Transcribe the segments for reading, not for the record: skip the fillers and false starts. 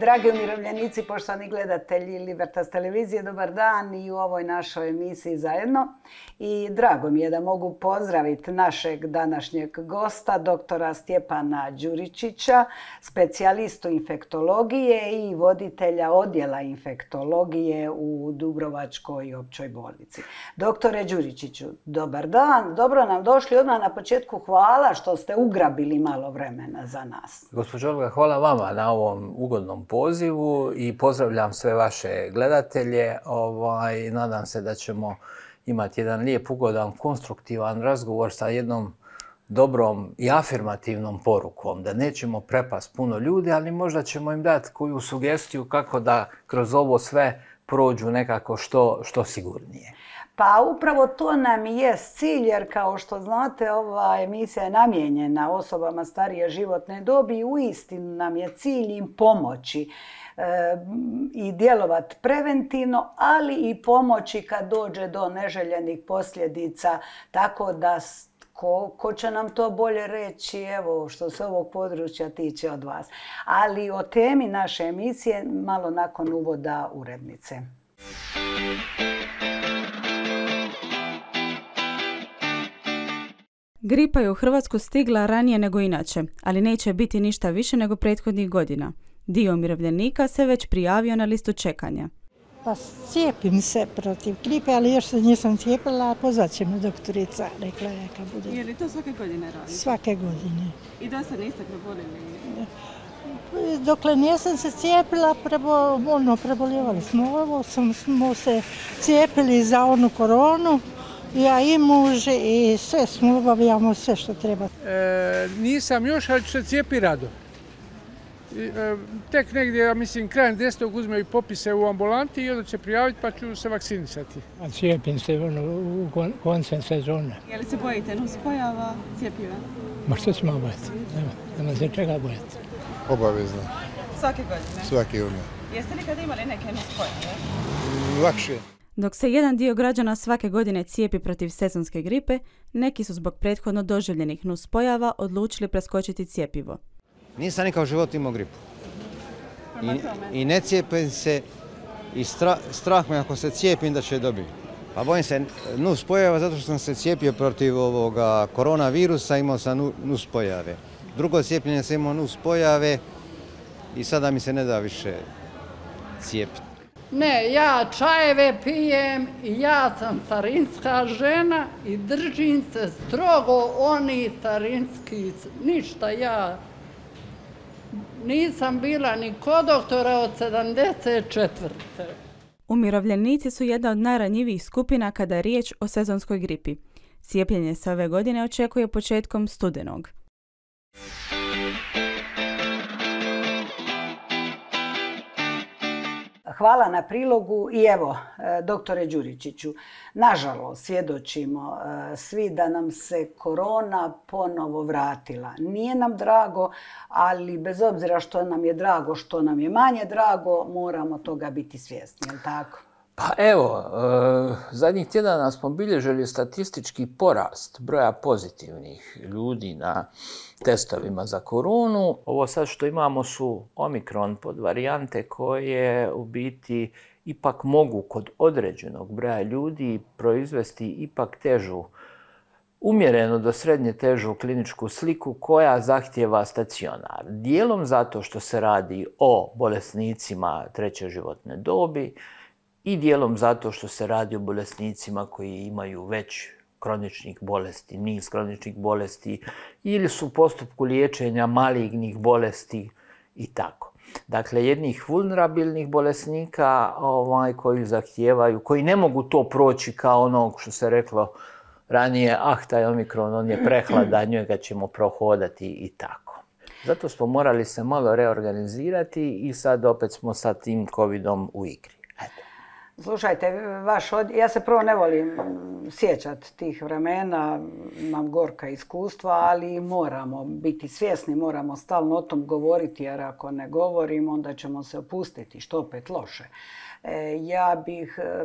Dragi umirovljenici, poštovani gledatelji Libertas televizije, dobar dan i u ovoj našoj emisiji zajedno. I drago mi je da mogu pozdraviti našeg današnjeg gosta, doktora Stjepana Đuričića, specijalistu infektologije i voditelja odjela infektologije u Dubrovačkoj općoj bolnici. Doktore Đuričiću, dobar dan, dobro nam došli. Odmah na početku hvala što ste ugrabili malo vremena za nas. Gospođo Olga, hvala vama na ovom ugodnom pozivu i pozdravljam sve vaše gledatelje. Nadam se da ćemo imati jedan lijep, ugodan, konstruktivan razgovor sa jednom dobrom i afirmativnom porukom, da nećemo prepast puno ljudi, ali možda ćemo im dati koju sugestiju kako da kroz ovo sve prođu nekako što sigurnije. Pa upravo to nam i je cilj, jer kao što znate, ova emisija je namijenjena osobama starije životne dobi i uistinu nam je cilj im pomoći i djelovati preventivno, ali i pomoći kad dođe do neželjenih posljedica, tako da ko će nam to bolje reći, evo, što se ovog područja tiče od vas. Ali o temi naše emisije malo nakon uvoda urednice. Gripa je u Hrvatsku stigla ranije nego inače, ali neće biti ništa više nego prethodnih godina. Dio umirovljenika se već prijavio na listu čekanja. Pa cijepim se protiv gripe, ali još se nisam cijepila, pozvat će me doktorica, rekla je kad bude. Je li to svake godine radite? Svake godine. I da se niste prebolili? Dokle nisam se cijepila, preboljevali smo ovo, smo se cijepili za onu koronu. Ja i muž i sve smo obavljamo sve što treba. Nisam još, ali ću se cijepiti rado. Tek negdje, ja mislim, krajem 10. uzmeju popise u ambulanti i onda će prijaviti pa ću se vakcinisati. Cijepim se u koncem sezone. Je li se bojite nuspojava cjepiva? Ma što ćemo bojati? Nema se čega bojati. Obavezno. Svake godine? Svake godine. Jeste li kada imali neke nuspojave? Lakše. Dok se jedan dio građana svake godine cijepi protiv sezonske gripe, neki su zbog prethodno doživljenih nuspojava odlučili preskočiti cjepivo. Nisam nikad u životu imao gripu. I ne cijepim se i strah me ako se cijepim da će dobiti. Pa bojim se nuspojava zato što sam se cijepio protiv ovoga koronavirusa, imao sam nuspojave. Drugo cijepljenje sam imao nuspojave i sada mi se ne da više cijepiti. Ne, ja čajeve pijem i ja sam starinska žena i držim se strogo oni starinski, ništa ja nisam bila ni kod doktora od 74. Umirovljenici su jedna od najranjivijih skupina kada je riječ o sezonskoj gripi. Cijepljenje se ove godine očekuje početkom studenog. Hvala na prilogu i evo, doktore Đuričiću, nažalost svjedočimo svi da nam se korona ponovo vratila. Nije nam drago, ali bez obzira što nam je drago, što nam je manje drago, moramo toga biti svjesni, jel' tako? Pa evo, zadnjih tjedana smo bilježili statistički porast broja pozitivnih ljudi na testovima za koronu. Ovo sad što imamo su omikron podvarijante koje u biti ipak mogu kod određenog broja ljudi proizvesti ipak težu, umjereno do srednje težu kliničku sliku koja zahtijeva stacionar. Dijelom zato što se radi o bolesnicima treće životne dobi, i dijelom zato što se radi o bolesnicima koji imaju već kroničnih bolesti, niz kroničnih bolesti ili su u postupku liječenja malignih bolesti i tako. Dakle, jednih vulnerabilnih bolesnika koji zahtijevaju, koji ne mogu to proći kao onog što se reklo ranije, taj omikron, on je prehladan, njega ćemo prohodati i tako. Zato smo morali se malo reorganizirati i sad opet smo sa tim covidom u igri. Slušajte, ja se prvo ne volim sjećati tih vremena, imam gorka iskustva, ali moramo biti svjesni, moramo stalno o tom govoriti, jer ako ne govorimo, onda ćemo se opustiti, što opet loše.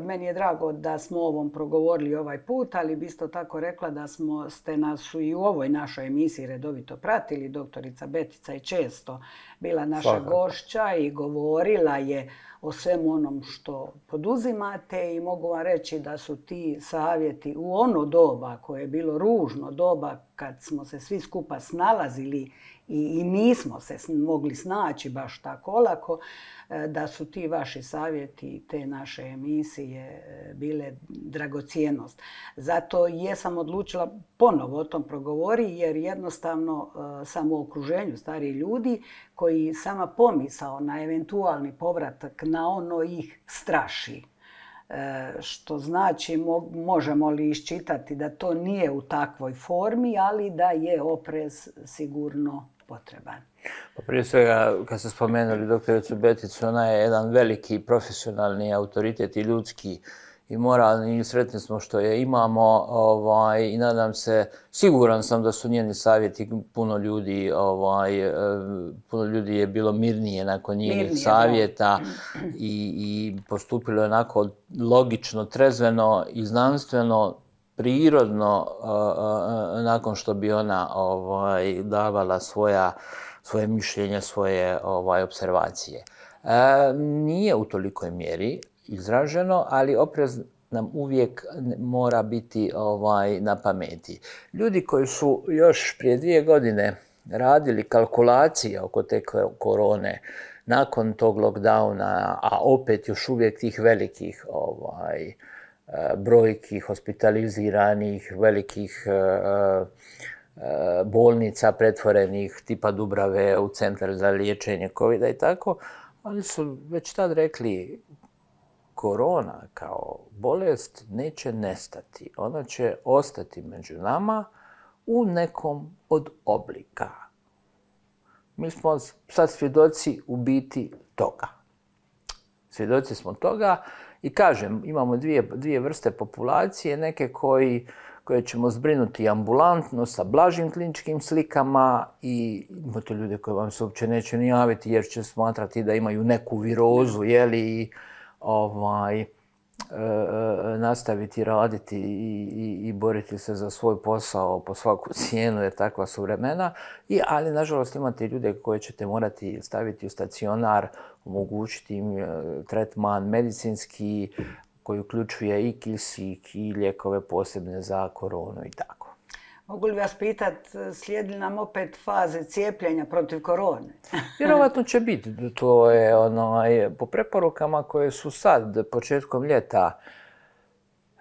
Meni je drago da smo o ovom progovorili ovaj put, ali bi isto tako rekla da ste nas i u ovoj našoj emisiji redovito pratili. Doktorica Betica je često bila naša gošća i govorila je o svemu onom što poduzimate i mogu vam reći da su ti savjeti u ono doba koje je bilo ružno doba kad smo se svi skupa snalazili i nismo se mogli snaći baš tako olako, da su ti vaši savjeti, te naše emisije bile dragocjenost. Zato jesam odlučila ponovo o tom progovori jer jednostavno sam u okruženju starih ljudi koji sama pomisao na eventualni povratak na ono ih straši. Što znači možemo li iščitati da to nije u takvoj formi, ali da je oprez sigurno potreban. Pa prije svega, kad ste spomenuli doktoricu Beticu, ona je jedan veliki profesionalni autoritet i ljudski i moralni i sretni smo što je imamo i nadam se, siguran sam da su njeni savjeti puno ljudi je bilo mirnije nakon njenih savjeta i postupilo je onako logično, trezveno i znanstveno, prirodno nakon što bi ona davala svoje mišljenje, svoje observacije. Nije u tolikoj mjeri izraženo, ali oprez nam uvijek mora biti na pameti. Ljudi koji su još prije 2 godine radili kalkulacije oko te korone, nakon tog lockdowna, a opet još uvijek tih velikih brojki hospitaliziranih, velikih bolnica pretvorenih tipa Dubrave u centar za liječenje covida i tako, oni su već tad rekli korona kao bolest neće nestati. Ona će ostati među nama u nekom od oblika. Mi smo sad svjedoci u biti toga. Svjedoci smo toga i kažem, imamo dvije vrste populacije, neke koje ćemo zbrinuti ambulantno sa blažim kliničkim slikama i imate ljude koje vam se uopće neće ni javiti jer će smatrati da imaju neku virozu, i nastaviti raditi i boriti se za svoj posao po svaku cijenu jer takva su vremena. Ali nažalost imate ljude koje ćete morati staviti u stacionar, omogućiti im tretman medicinski koji uključuje i kisik i lijekove posebne za koronu i tako. Mogu li vas pitati, slijedi nam opet faze cijepljenja protiv korone? Vjerovatno će biti. To je po preporukama koje su sad, početkom ljeta,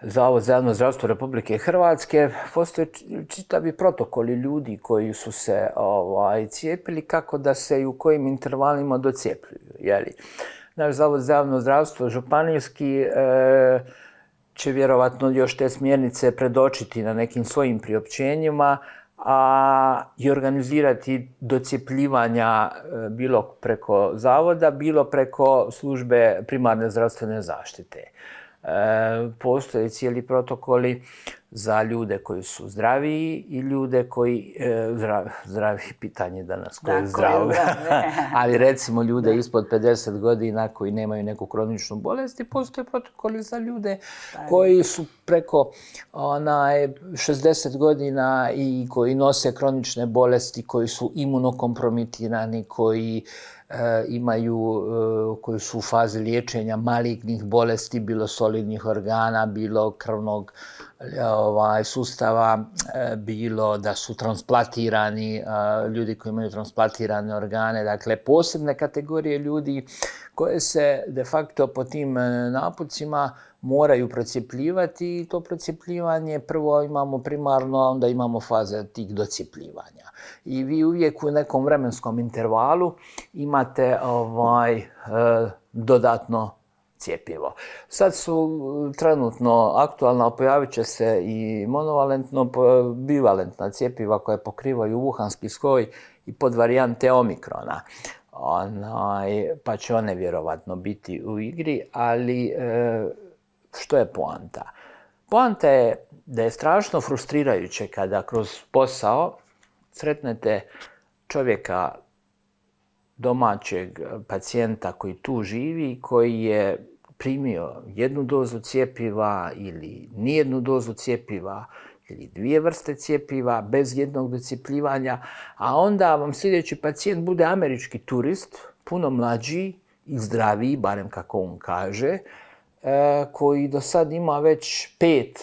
Zavod za javno zdravstvo Republike Hrvatske, postoje čitavi protokoli ljudi koji su se cijepili, kako da se i u kojim intervalima docijepljuju. Naš Zavod za javno zdravstvo županijski će vjerovatno još te smjernice predočiti na nekim svojim priopćenjima i organizirati docijepljivanja bilo preko zavoda, bilo preko službe primarne zdravstvene zaštite. Postoje cijeli protokoli za ljude koji su zdraviji i ljude koji, zdravi pitanje danas, koji je zdrav, ali recimo ljude ispod 50 godina koji nemaju neku kroničnu bolest i postoje protokoli za ljude koji su preko 60 godina i koji nose kronične bolesti, koji su imunokompromitirani, koji koji su u fazi liječenja malignih bolesti, bilo solidnih organa, bilo krvnog sustava, bilo da su transplantirani, ljudi koji imaju transplantirane organe, dakle posebne kategorije ljudi koje se de facto po tim napucima moraju procijepljivati i to procijepljivanje prvo imamo primarno, a onda imamo faze tih docijepljivanja. I vi uvijek u nekom vremenskom intervalu imate dodatno cjepivo. Sad su trenutno aktualna, pojavit će se i monovalentno, bivalentna cjepiva koja pokrivaju wuhanski soj i podvarijante omikrona. Pa će one vjerovatno biti u igri, ali što je poanta? Poanta je da je strašno frustrirajuće kada kroz posao sretnete čovjeka, domaćeg pacijenta koji tu živi, primio jednu dozu cjepiva ili nijednu dozu cjepiva ili 2 vrste cjepiva bez jednog docjepljivanja, a onda vam sljedeći pacijent bude američki turist, puno mlađi i zdraviji, barem kako on kaže, koji do sad ima već 5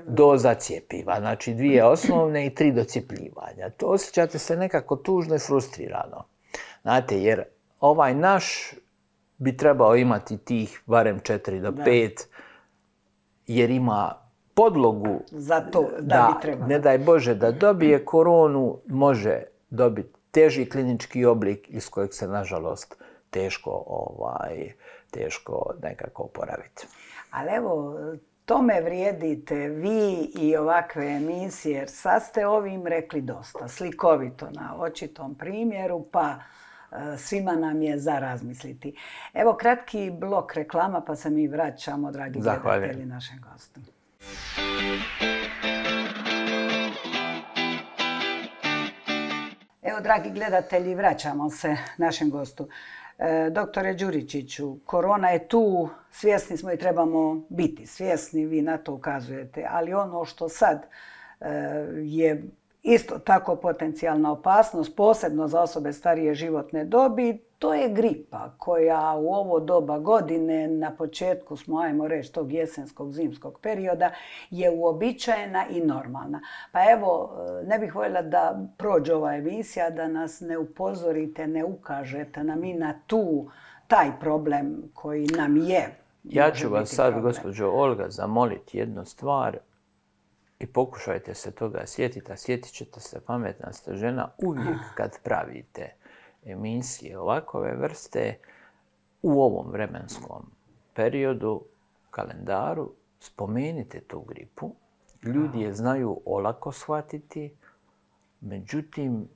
doza cjepiva, znači 2 osnovne i 3 docjepljivanja. To osjećate se nekako tužno i frustrirano. Znate, jer ovaj naš bi trebao imati tih barem 4 do 5, jer ima podlogu za to da bi trebalo. Ne daj Bože da dobije koronu, može dobiti teži klinički oblik iz kojeg se, nažalost, teško nekako oporaviti. Ali evo, tome vrijedite vi i ovakve emisije, jer sad ste ovim rekli dosta, slikovito na očitom primjeru, pa svima nam je za razmisliti. Evo kratki blok reklama, pa se mi vraćamo, dragi gledatelji, našem gostu. Evo, dragi gledatelji, vraćamo se našem gostu. Doktore Đuričiću, korona je tu, svjesni smo i trebamo biti svjesni, vi na to ukazujete, ali ono što sad je isto tako potencijalna opasnost, posebno za osobe starije životne dobi, to je gripa koja u ovo doba godine, na početku smo, ajmo reći, tog jesenskog, zimskog perioda, je uobičajena i normalna. Pa evo, ne bih voljela da prođe ova emisija, da nas ne upozorite, ne ukažete nam i na taj problem koji nam je. Ja ću vas sad, gospođo Olga, zamoliti jednu stvar i pokušajte se toga sjetiti, a sjetit ćete se, pametna ste žena, uvijek kad pravite emisije ovakove vrste u ovom vremenskom periodu, kalendaru, spomenite tu gripu. Ljudi je znaju olako shvatiti, međutim,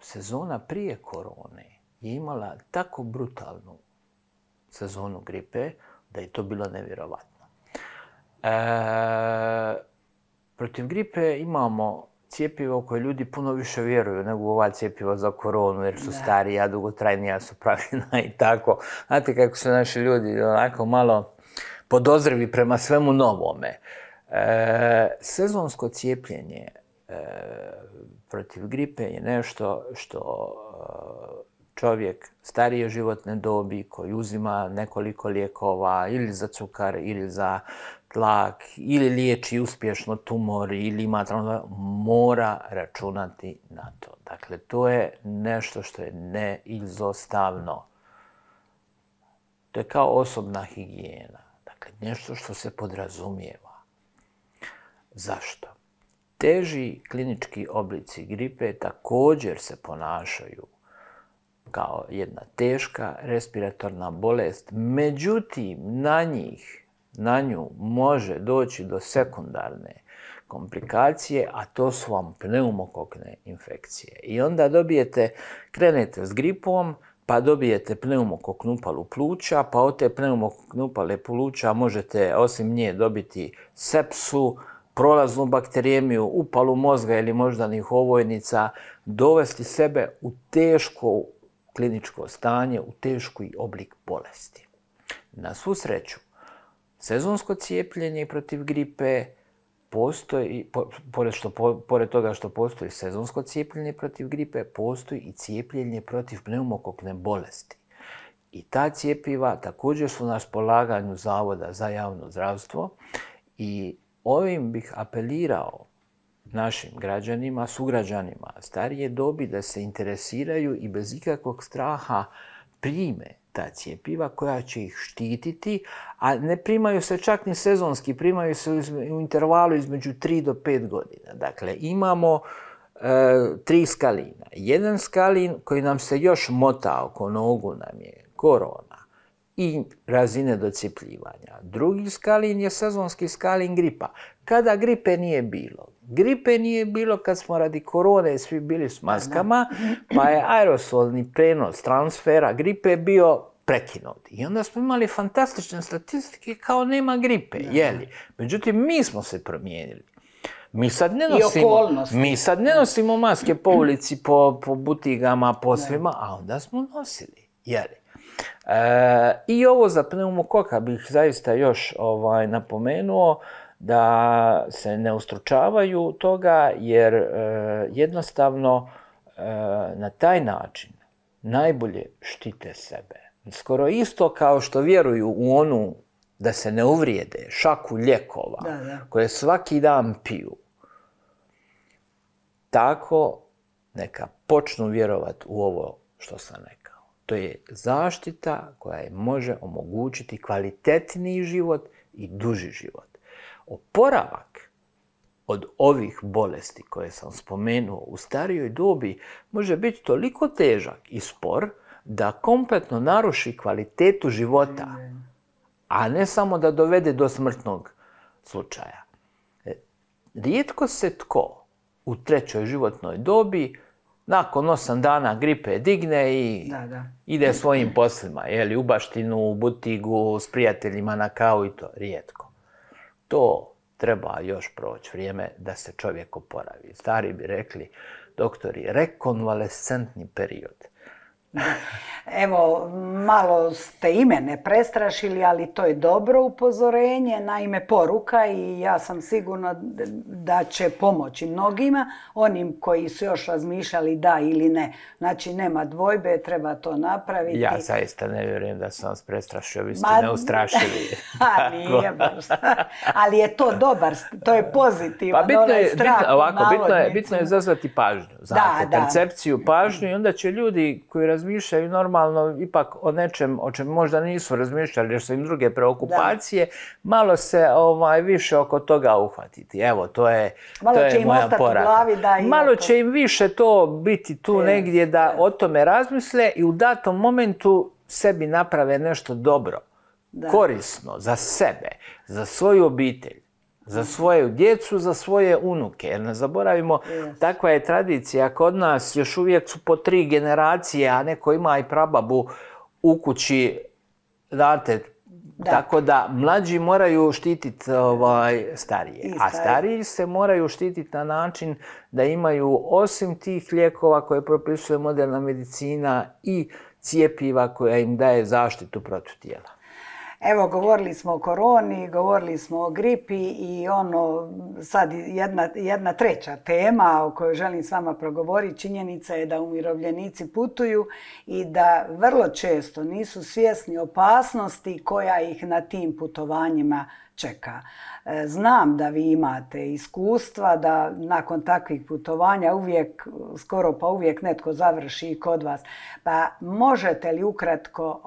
sezona prije korone je imala tako brutalnu sezonu gripe da je to bilo nevjerovatno. Protiv gripe imamo cjepivo koje ljudi puno više vjeruju nego ova cjepiva za koronu, jer su starija, dugotrajnija su pravljena i tako. Znate kako su naši ljudi onako malo podozrivi prema svemu novome. Sezonsko cijepljenje protiv gripe je nešto što čovjek starije životne dobi koji uzima nekoliko lijekova ili za cukar ili za tlak ili liječi uspješno tumor ili ima mora računati na to. Dakle, to je nešto što je neizostavno. To je kao osobna higijena. Dakle, nešto što se podrazumijeva. Zašto? Teži klinički oblici gripe također se ponašaju kao jedna teška respiratorna bolest. Međutim, na nju može doći do sekundarne komplikacije, a to su vam pneumokokne infekcije. I onda krenete s gripom, pa dobijete pneumokoknu upalu pluća, pa od te pneumokokne upale pluća možete osim nje dobiti sepsu, prolaznu bakterijemiju, upalu mozga ili moždanih ovojnica, dovesti sebe u teško kliničko stanje, u teški oblik bolesti. Na svu sreću, sezonsko cijepljenje protiv gripe postoji, pored toga što postoji sezonsko cijepljenje protiv gripe, postoji i cijepljenje protiv pneumokokne bolesti. I ta cjepiva također su na raspolaganju Zavoda za javno zdravstvo i ovim bih apelirao našim građanima, sugrađanima starije dobi da se interesiraju i bez ikakvog straha prime ta cjepiva koja će ih štititi, a ne primaju se čak ni sezonski, primaju se u intervalu između 3 do 5 godina. Dakle, imamo 3 skalina. Jedan skalin koji nam se još mota oko nogu nam je korona i razine docjepljivanja. Drugi skalin je sezonski skalin gripa. Kada gripe nije bilo? Gripe nije bilo kad smo radi korone svi bili s maskama, pa je aerosolni prenos transfera gripe bio prekinut. I onda smo imali fantastične statistike kao nema gripe, jeli? Međutim, mi smo se promijenili. Mi sad ne nosimo maske po ulici, po butigama, po svima, a onda smo nosili, jeli? I ovo za pneumokoka bih zaista još napomenuo, da se ne ustručavaju toga, jer jednostavno na taj način najbolje štite sebe. Skoro isto kao što vjeruju u onu, da se ne uvrijede, šaku lijekova koje svaki dan piju. Tako neka počnu vjerovati u ovo što sam rekao. To je zaštita koja im može omogućiti kvalitetniji život i duži život. Oporavak od ovih bolesti koje sam spomenuo u starijoj dobi može biti toliko težak i spor da kompletno naruši kvalitetu života, a ne samo da dovede do smrtnog slučaja. Rijetko se tko u trećoj životnoj dobi nakon 8 dana gripe digne i ide svojim poslima, u baštinu, u butigu, s prijateljima na kavu i to. Rijetko. To treba još proći vrijeme da se čovjek oporavi. Stari bi rekli, doktori, rekonvalescentni period. Evo, malo ste i mene prestrašili, ali to je dobro upozorenje, naime poruka, i ja sam sigurna da će pomoći mnogima, onim koji su još razmišljali da ili ne. Znači, nema dvojbe, treba to napraviti. Ja zaista ne vjerujem da sam vas prestrašio, vi ste neustrašili. Nije baš. Ali je to dobar, to je pozitivan. Bitno je izazvati pažnju, znate, percepciju, pažnju, i onda će ljudi koji razmišljaju normalno ipak o nečem o čem možda nisu razmišljali jer su im druge preokupacije, malo se više oko toga uhvatiti. Evo, to je moja poraka. Malo će im više to biti tu negdje da o tome razmisle i u datom momentu sebi naprave nešto dobro, korisno za sebe, za svoju obitelj, za svoju djecu, za svoje unuke. Jer ne zaboravimo, takva je tradicija kod nas, još uvijek su po 3 generacije, a neko ima i prababu u kući, znate, tako da mlađi moraju štititi starije. A stariji se moraju štititi na način da imaju, osim tih lijekova koje propisuje moderna medicina, i cjepiva koja im daje zaštitu protiv tijela. Evo, govorili smo o koroni, govorili smo o gripi i sad jedna treća tema o kojoj želim s vama progovoriti. Činjenica je da umirovljenici putuju i da vrlo često nisu svjesni opasnosti koja ih na tim putovanjima čeka. Znam da vi imate iskustva da nakon takvih putovanja skoro pa uvijek netko završi i kod vas. Pa možete li ukratko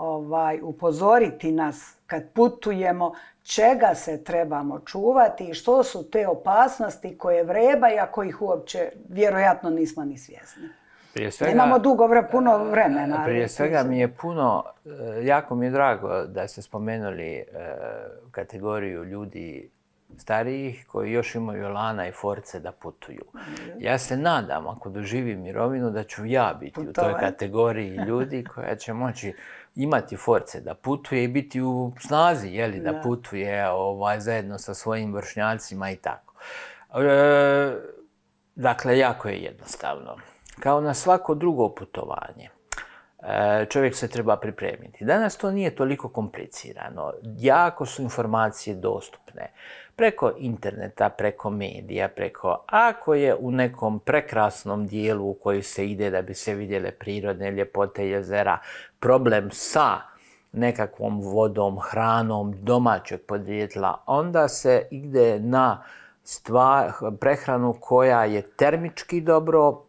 upozoriti nas kad putujemo čega se trebamo čuvati i što su te opasnosti koje vrebaju, a kojih uopće vjerojatno nismo ni svjesni? Nemamo puno vremena. Prije svega mi je jako mi je drago da ste spomenuli kategoriju ljudi starijih koji još imaju elana i force da putuju. Ja se nadam, ako doživim mirovinu, da ću ja biti u toj kategoriji ljudi koja će moći imati force da putuje i biti u snazi, da putuje zajedno sa svojim vršnjacima i tako. Dakle, jako je jednostavno. Kao na svako drugo putovanje, čovjek se treba pripremiti. Danas to nije toliko komplicirano. Jako su informacije dostupne. Preko interneta, preko medija, ako je u nekom prekrasnom dijelu u koji se ide da bi se vidjele prirodne ljepote jezera, problem sa nekakvom vodom, hranom domaćeg podrijetla, onda se ide na prehranu koja je termički dobro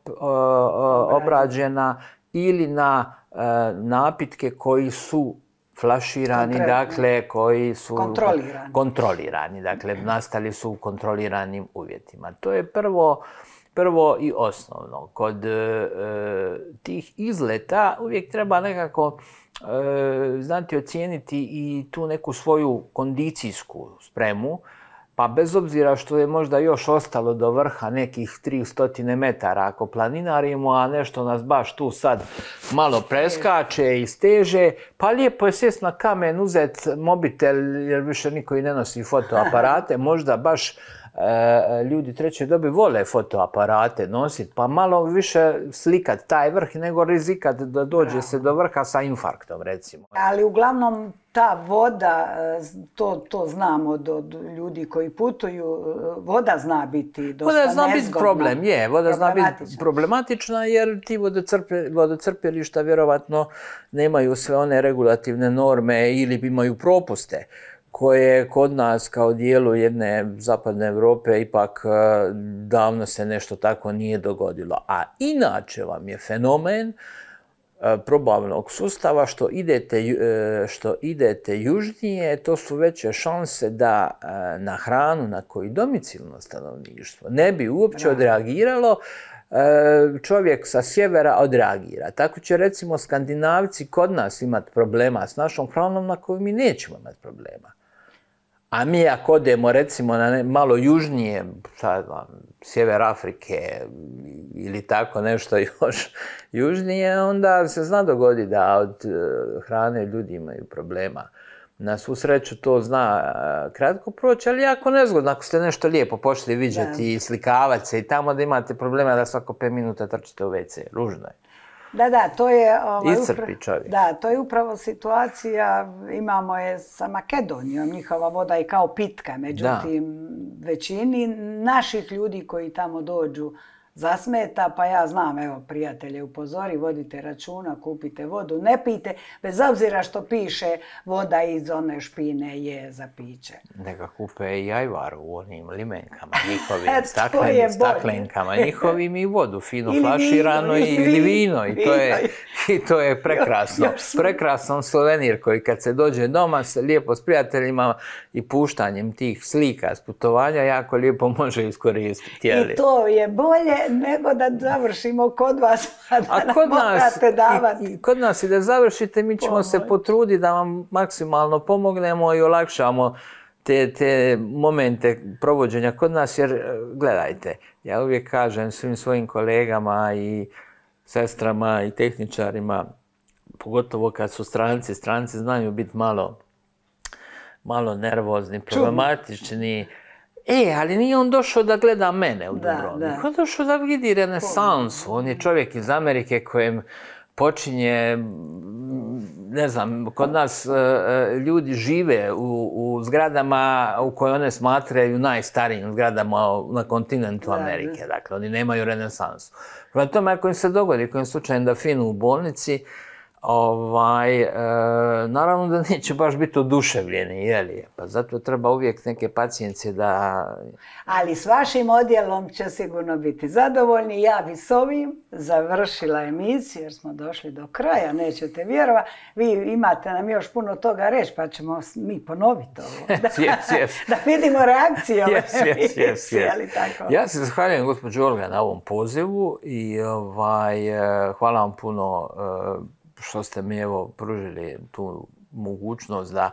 obrađena ili na napitke koji su flaširani, dakle, koji su kontrolirani, dakle, nastali su u kontroliranim uvjetima. To je prvo i osnovno. Kod tih izleta uvijek treba nekako znati ocijeniti i tu neku svoju kondicijsku spremu, pa bez obzira što je možda još ostalo do vrha nekih 300 metara ako planinarimo, a nešto nas baš tu sad malo preskače i steže, pa lijepo je sjest na kamen, uzet mobitel jer više niko i ne nosi fotoaparate, možda baš ljudi treće dobi vole fotoaparate nositi, pa malo više slikat taj vrh nego rizikat da dođe se do vrha sa infarktom, recimo. Ali uglavnom ta voda, to znamo od ljudi koji putuju, voda zna biti dosta nezgodna. Voda zna biti problem, voda zna biti problematična jer ti vodocrpilišta vjerovatno nemaju sve one regulativne norme ili imaju propuste koje kod nas kao dijelu jedne zapadne Europe ipak davno se nešto tako nije dogodilo. A inače vam je fenomen probavnog sustava što idete južnije, to su veće šanse da na hranu na koju domicilno stanovništvo ne bi uopće odreagiralo, čovjek sa sjevera odreagira. Tako će recimo Skandinavci kod nas imati problema s našom hranom na koju mi nećemo imati problema. A mi ako odemo recimo na malo južnije, sjever Afrike ili tako nešto još južnije, onda se zna dogoditi da od hrane ljudi imaju problema. Na svu sreću to zna kratko proći, ali jako nezgodno ako ste nešto lijepo pošli viđati i slikavati se i tamo da imate problema da svako 5 minuta trčite u WC. Ružno je. Da, to je... Iscrpi čovjek. Da, to je upravo situacija, imamo je sa Makedonijom, njihova voda je kao pitka, međutim većini naših ljudi koji tamo dođu zasmeta, pa ja znam, evo, prijatelje, upozori, vodite računa, kupite vodu, ne pijte, bez obzira što piše voda iz one špine je za piće. Neka kupe i ajvar u onim limenkama, njihovim staklenkama, njihovim i vodu, fino flaširano ili vino i to je prekrasno. Prekrasan suvenir koji kad se dođe doma se lijepo s prijateljima i puštanjem tih slika s putovanja jako lijepo može iskoristiti. I to je bolje nego da završimo kod vas, a da nam morate davati. Kod nas i da završite, mi ćemo se potruditi da vam maksimalno pomognemo i olakšamo te momente provođenja kod nas, jer gledajte, ja uvijek kažem svim svojim kolegama i sestrama i tehničarima, pogotovo kad su stranci znaju biti malo nervozni, problematični. Ali nije on došao da gleda mene u Dubrovniku. On je došao da vidi renesansu. On je čovjek iz Amerike kojem počinje, ne znam, kod nas ljudi žive u zgradama u koje one smatraju najstarijim zgradama na kontinentu Amerike. Dakle, oni nemaju renesansu. Prema tome, ako im se dogodi, kojim slučajem da finu u bolnici, naravno da neće baš biti oduševljeni, jeli? Pa zato treba uvijek neke pacijencije da... Ali s vašim odjelom će sigurno biti zadovoljni. Ja bi s ovim završila emisiju jer smo došli do kraja, nećete vjerovati. Vi imate nam još puno toga reći pa ćemo mi ponoviti ovo. Da vidimo reakciju ove emisije. Ja se zahvaljujem gospođo Olga na ovom pozivu i hvala vam puno što ste mi pružili tu mogućnost da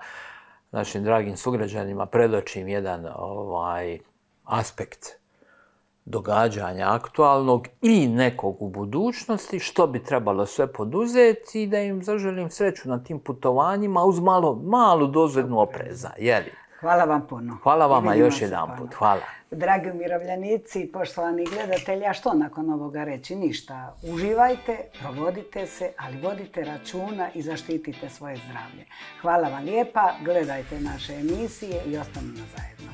našim dragim sugrađanima predočim jedan aspekt događanja aktualnog i nekog u budućnosti, što bi trebalo sve poduzeti i da im zaželim sreću na tim putovanjima uz malu dozu opreza. Hvala vam puno. Hvala vama još jedan put. Hvala. Dragi umirovljenici, poštovani gledatelji, a što nakon ovoga reći? Ništa. Uživajte, provodite se, ali vodite računa i zaštitite svoje zdravlje. Hvala vam lijepa, gledajte naše emisije i ostanimo zajedno.